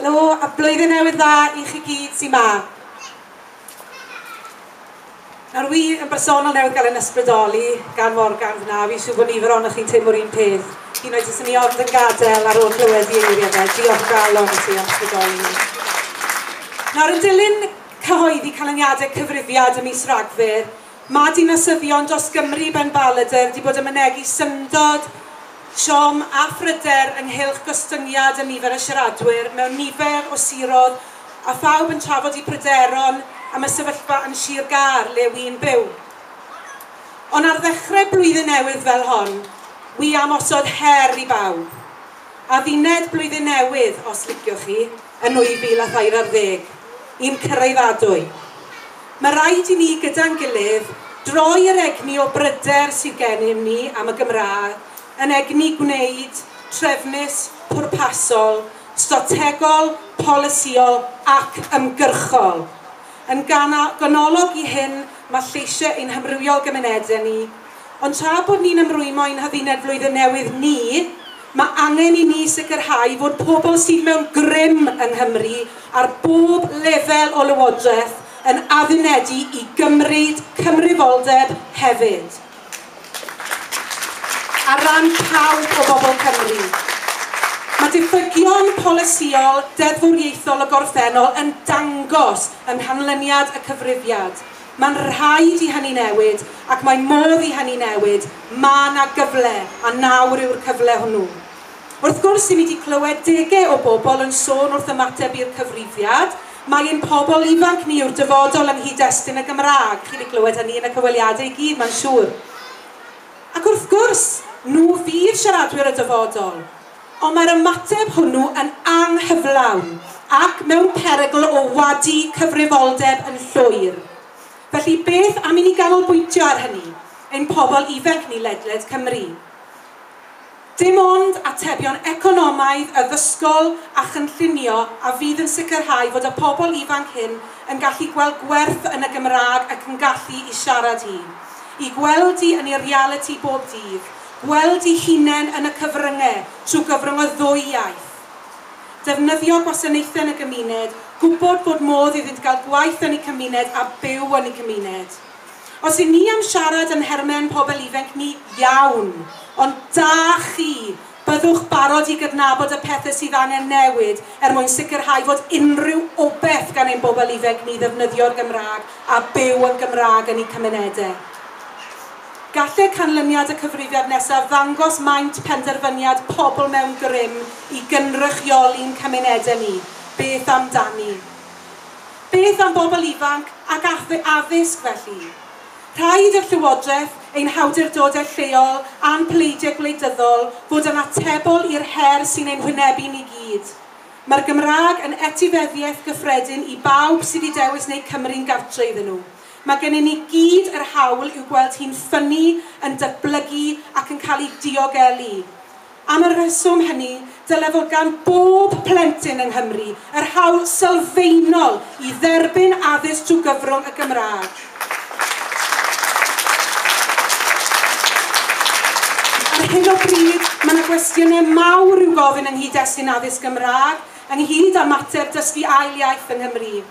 Helo a blwyddyn newydd dda i chi gyd sy'n ma. Nawr wi yn bersonol newydd gael yn ysbrydoli gan Morgan fyna, fi'n siŵr bod nifer ohonoch chi'n teimlo'r un peth. Un oed os ni ond yn gadael ar ôl clywed i eiriau fe, diolch o galon i ti am ysbrydoli ni. Nawr yn dilyn cyhoeddi canlyniadau cyfrifiad ym mis Rhagfyr, mae dinasyddion dros Gymru benbaladr wedi bod yn mynegi syndod, siom a phryder ynghylch gostyngiad y nifer y siaradwyr mewn nifer o siroedd a phawb yn trafod eu pryderon am y sefyllfa yn Sir Gâr le wy'n byw. Ond ar ddechrau blwyddyn newydd fel hon, wi am osod her i bawb. Adduned blwyddyn newydd, os liciwch chi, yn 2013, un cyraeddadwy. Mae rhaid i ni gyda'n gilydd droi yr egni o bryder sydd gennym ni am y Gymraeg yn egni gwneud, trefnus, pwrpasol, strategol, polisïol ac ymgyrchol. Yn ganolog i hyn mae lleisiau ein hamrywiol gymunedau ni, ond tra bod ni'n ymrwymo i'n hadduned flwyddyn newydd ni, mae angen i ni sicrhau fod pobl sydd mewn grym yng Nghymru ar bob lefel o lywodraeth yn addunedu i gymryd cyfrifoldeb hefyd. Ar ran pawb o bobl Cymru. Mae diffygion polisïol deddfwriaethol y gorffennol yn dangos yng nghanlyniad y cyfrifiad. Mae'n rhaid i hynny newid ac mae modd i hynny newid. Mae 'na gyfle a nawr yw'r cyfle hwnnw. Wrth gwrs, i ni wedi clywed degau o bobl yn sôn wrth ymateb i'r cyfrifiad, mae ein pobl ifanc ni yw'r dyfodol yng nghyd-destun y Gymraeg. Chi wedi clywed hynny yn y cyfweliadau i gyd, mae'n siŵr. Ac wrth gwrs, nhw fydd siaradwyr y dyfodol. Ond mae'r ymateb hwnnw yn anghyflawn ac mewn perygl o wadu cyfrifoldeb yn llwyr. Felly beth am i ni ganolbwyntio ar hynny, ein pobl ifanc ni ledled Cymru? Dim ond atebion economaidd, addysgol a chynllunio a fydd yn sicrhau fod y pobl ifanc hyn yn gallu gweld gwerth yn y Gymraeg ac yn gallu i siarad hi. I gweld hi yn ei realiti bob dydd, gweld ei hunain yn y cyfryngau trwy gyfrwng y ddwy iaith. Defnyddio gwasanaethau yn y gymuned, gwybod bod modd iddynt gael gwaith yn eu cymuned a byw yn eu cymuned. Os y' ni am siarad yn nhermau pobl ifanc ni, iawn, ond da chi, byddwch barod i gydnabod y pethau sydd angen newid er mwyn sicrhau fod unrhyw obaith gan ein bobl ifanc ni ddefnyddio'r Gymraeg a byw yn Gymraeg yn eu cymunedau. Gallai canlyniad y cyfrifiad nesaf ddangos maint penderfyniad pobl mewn grym i gynrychioli'n cymunedau ni. Beth amdani? Beth am bobl ifanc ac addysg felly? Rhaid i'r Llywodraeth, ein hawdurdodau lleol a'n pleidiau gwleidyddol fod yn atebol i'r her sy'n ein hwynebu ni gyd. Mae'r Gymraeg yn etifeddiaeth gyffredin i bawb sydd wedi dewis wneud Cymru'n gartre iddyn nhw. Mae gennym ni gyd yr hawl i'w gweld hi'n ffynnu, yn datblygu ac yn cael ei diogelu. Am y rheswm hynny, dyle fod gan bob plentyn yng Nghymru yr hawl sylfaenol i dderbyn addysg trwy gyfrwng y Gymraeg. Ar hyn o bryd, mae yna gwestiynau mawr i'w gofyn yng nghyd-destun addysg Gymraeg, ynghyd â mater dysgu ail iaith yng Nghymru.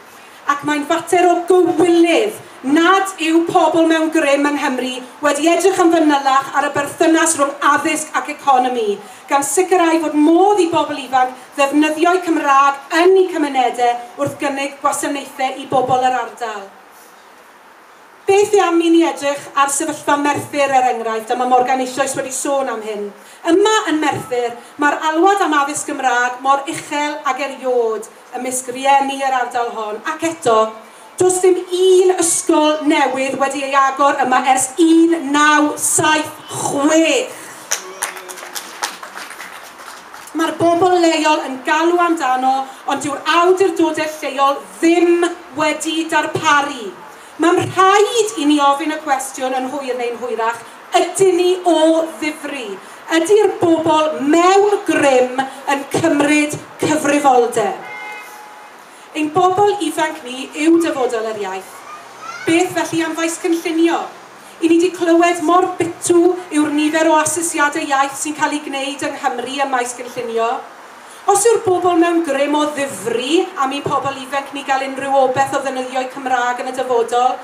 Ac mae'n fater o gywilydd nad yw pobl mewn grym yng Nghymru wedi edrych yn fanylach ar y berthynas rhwng addysg ac economi, gan sicrhau fod modd i bobl ifanc ddefnyddio'u Cymraeg yn eu cymunedau wrth gynnig gwasanaethau i bobl yr ardal. Beth am i ni edrych ar sefyllfa Merthyr er enghraifft, a mae Morgan eisoes wedi sôn am hyn. Yma yn Merthyr, mae'r alwad am addysg Gymraeg mor uchel ag erioed ymysg rieni yr ardal hon, ac eto, does dim un ysgol newydd wedi ei agor yma ers 1976. Mae'r bobl leol yn galw amdano, ond dyw'r awdurdodau lleol ddim wedi darparu. Mae'n rhaid i ni ofyn y cwestiwn yn hwyr neu'n hwyrach, ydyn ni o ddifri? Ydy'r bobl mewn grym yn cymryd cyfrifoldeb? Ein bobl ifanc ni yw dyfodol yr iaith. Beth felly am faes cynllunio? I ni wedi clywed mor bitw yw'r nifer o asesiadau iaith sy'n cael ei gwneud yng Nghymru ym maes cynllunio. Os yw'r bobl mewn grym o ddifri am i'n pobl ifanc ni gael unrhyw obaith o ddefnyddio'u Cymraeg yn y dyfodol,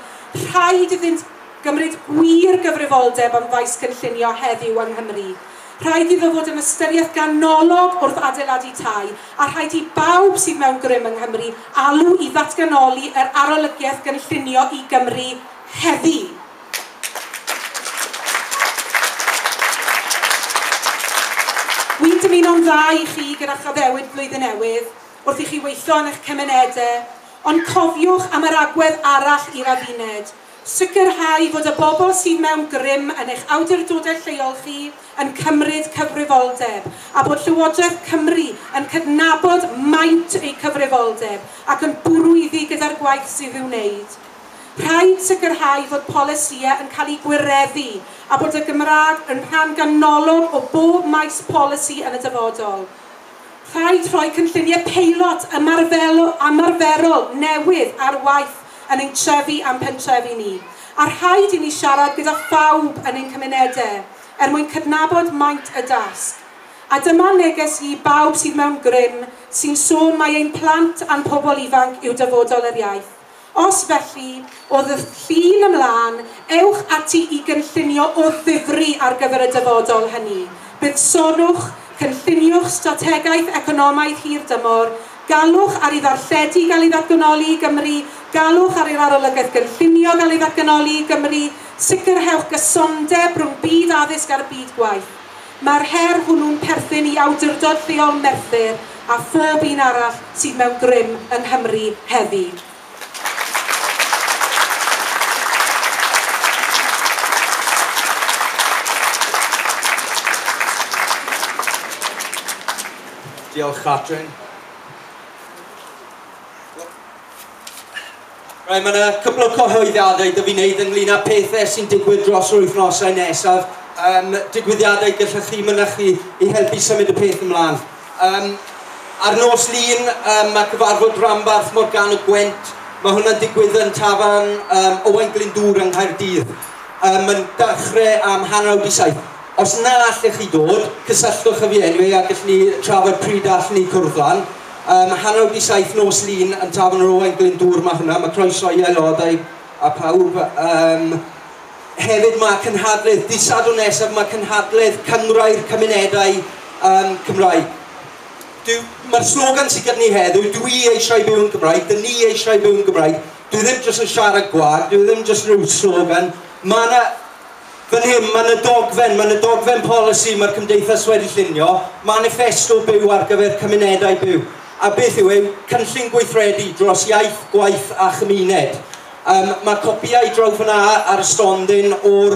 rhaid iddynt gymryd gwir gyfrifoldeb am faes cynllunio heddiw yng Nghymru. Rhaid iddo fod yn ystyriaeth ganolog wrth adeiladu tai, a rhaid i bawb sydd mewn grym yng Nghymru alw i ddatganoli yr arolygiaeth gynllunio i Gymru heddi. Wy'n dymuno'n dda i chi gyda chaddewid blwyddyn newydd, wrth i chi weithio yn eich cymunedau, ond cofiwch am yr agwedd arall i'r adduned. Sicrhau fod y bobl sydd mewn grym yn eich awdurdodau lleol chi yn cymryd cyfrifoldeb, a bod Llywodraeth Cymru yn cydnabod maint eu cyfrifoldeb ac yn bwrw iddi gyda'r gwaith sydd i'w wneud. Rhaid sicrhau fod polisïau yn cael eu gwireddu a bod y Gymraeg yn rhan ganolog o bob maes polisi yn y dyfodol. Rhaid rhoi cynlluniau peilot ymarferol newydd ar waith yn ein trefi a'n pentrefi ni. A rhaid i ni siarad gyda phawb yn ein cymunedau er mwyn cydnabod maint y dasg. A dyma neges i bawb sydd mewn grym sy'n sôn mai ein plant a'n pobl ifanc yw dyfodol yr iaith. Os felly, o ddydd Llun ymlaen, ewch ati i gynllunio o ddifri ar gyfer y dyfodol hynny. Buddsonwch, cynlluniwch strategaeth economaidd hir dymor, galwch ar ei ddarlledu gael ei ddatganoli i Gymru, galwch ar ei arolygaeth gynllunio gael ei ddatganoli i Gymru, sicrhewch gysondeb rhwng byd addysg a'r byd gwaith. Mae'r her hwnnw'n perthyn i awdurdod lleol Merthyr a phob un arall sydd mewn grym yng Nghymru heddi. Diolch, Catrin. Right, mae yna cwpl o cyhoeddiadau dy fi wneud ynglyn â pethau sy'n digwydd dros yr wythnosau nesaf. Digwyddiadau gallwch chi mynychu i helpu symud y peth ymlaen. Ar nos Lun, mae cyfarfod Rhanbarth Morgannwg Gwent. Mae hwnna'n digwydd yn tafarn Owain Glyndŵr yng Nghaerdydd. Mae'n dechrau am 7:30. Os na allech chi dod, cysylltwch â fi anyway a gallwn ni trafod pryd allwn ni cwrdd lan. 7:30 nos Lun yn tafarn yr Owain Glyndŵr mae hwnna, mae croeso i aelodau a pawb. Hefyd mae cynhadledd, dydd Sadwrn nesaf mae cynhadledd Cynghrair Cymunedau Cymraeg. Mae'r slogan sydd gyda ni heddiw, dwi eisiau byw yn Gymraeg, dyn ni eisiau byw yn Gymraeg. Dwi ddim jyst yn siarad gwag, dwi ddim jyst rhyw slogan. Mae yna, fan hyn, mae yna dogfen polisi mae'r cymdeithas wedi llunio, manifesto byw ar gyfer cymunedau byw. A beth yw e? Cynllun gweithredu dros iaith, gwaith a chymuned. Mae copïau draw fyna ar y stondin o'r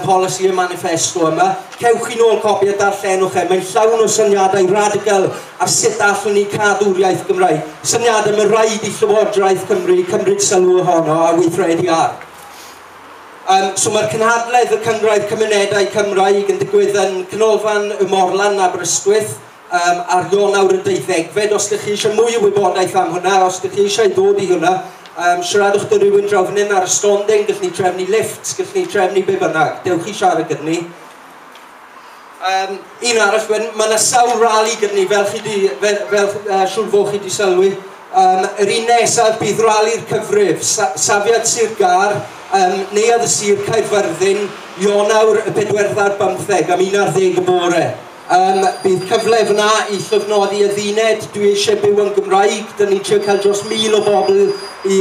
polisi y manifesto yma. Cewch chi nôl copi a darllenwch e. Mae'n llawn o syniadau radical ar sut allwn ni cadw'r iaith Gymraeg. Syniadau mae rhaid i Llywodraeth Cymru cymryd sylw ohono a weithredu ar. So mae'r cynhadledd y Cynghrair Cymunedau Cymraeg yn digwydd yn Canolfan y Morlan Aberystwyth ar Ionawr y 12fed. Os ydych chi eisiau mwy o wybodaeth am hwnna, os ydych chi eisiau dod i hwnna, siaradwch dy rhywun draw fan hyn ar y stondin, gallwn ni trefnu lifts, gallwn ni trefnu be bynnag. Dewch i siarad gyda ni. Un arall, mae yna sawl rali gyda ni, fel siŵr fod chi wedi sylwi. Yr un nesaf bydd rali'r cyfrif, Safiad Sir Gâr, Neuadd y Sir Caerfyrddin, Ionawr y 4 am 11 y bore. Bydd cyfle fyna i llofnodi adduned, dwi eisiau byw yn Gymraeg, dyn ni'n trio cael dros 1000 o bobl i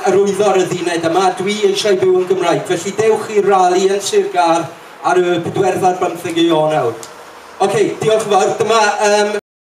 arwyddo'r adduned yma, dwi eisiau byw yn Gymraeg. Felly dewch i'r rali yn Sir Gâr ar y 4 Ionawr. Oce, diolch yn fawr. Dyma